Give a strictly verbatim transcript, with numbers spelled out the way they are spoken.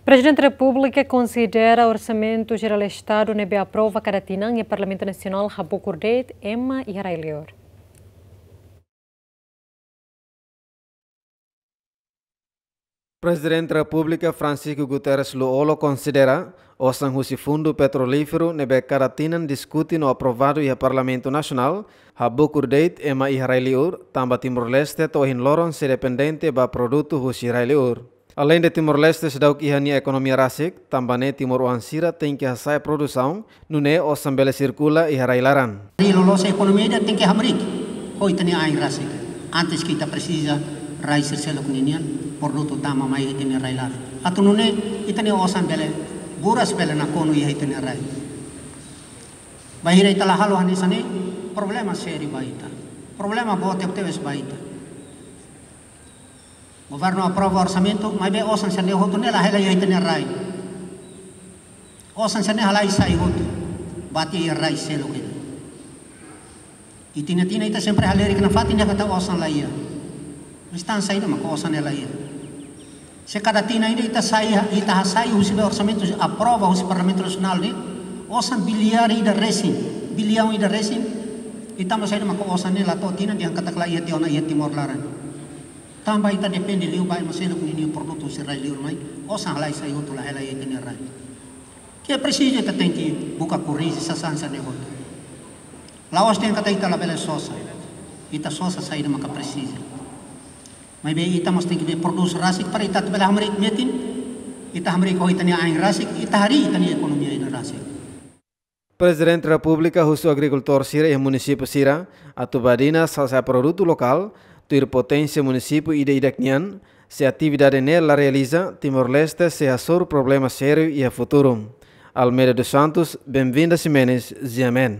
Prezidente Repúblika konsidera Orsamentu Jerál Estadu ne'ebé aprova kada tinan iha Parlamentu Nasionál habukur de'it ema iha rai-liur. Prezidente Repúblika Francisco Guterres Lú-Olo konsidera osan husi Fundu Petrolíferu ne'ebé kada tinan diskute no aprovadu iha Parlamentu Nasionál habukur de'it ema iha rai-liur, tanba Timor-Leste to'o ohin loron sei dependente ba produtu husi rai-liur. Aleinde Timor-Leste seidauk iha nia ekonomia rasik, tanba ne'e timoroan sira tenke hasa'e produsaun, nune'e osan bele sirkula iha rai-laran. Rai loloos ekonomia ida tenke hamriik ho ita-nia ain rasik. Antes ke ita presiza rai sira seluk ninian produtu tama mai ita-nia rai-laran. Atu nune'e ita-nia osan bele buras, bele nakonu iha ita-nia rai. Bainhira ita la halo hanesan ne'e, problema sériu ba ita. Problema boot tebetebes ba ita. Governu aprova orsamentu, maibé osan sira-ne'e hotu ne'e la hela iha ita-nia rai. Osan sira-ne'e halai sai hotu ba ita-nia rai seluk ida. Ita-nia tinan ita sempre halerik nafatin dehan katak osan la iha. Mas tan saida maka osan ne'e la iha? Se kada tinan ida ita sai, ita hasai husi be orsamentu aprova husi Parlamentu Nasionál ne'e, osan biliar ida resin, biliaun ida resin, ita mós saida maka osan ne'e la to'o tinan dehan katak la iha tiha ona iha Timor laran. Tanba ita depende liu ba ema seluk ninia produtu husi rai-liur mai, osan halai sai hotu, la hela iha ita-nia rai. Ke presiza ita tenke buka korrije sasán sira-ne'e hotu. La'ós dehan katak ita labele sosa. Ita sosa saida maka presiza. Maibé ita mós tenke be produs rasik para ita atu bele hamriik metin, ita hamriik ho ita-nia ain rasik, ita harii ita-nia ekonomia ida rasik. Prezidente Repúblika husu agrikultór sira iha munisípiu sira atu badinas hasa'e produtu lokál, tuir poténsia munisípiu ida-idak nian, se atividade ne'e la realiza, Timor-Leste sei hasoru problema sériu iha futuru. Almeida dos Santos, Benvinda Ximenes, G M N.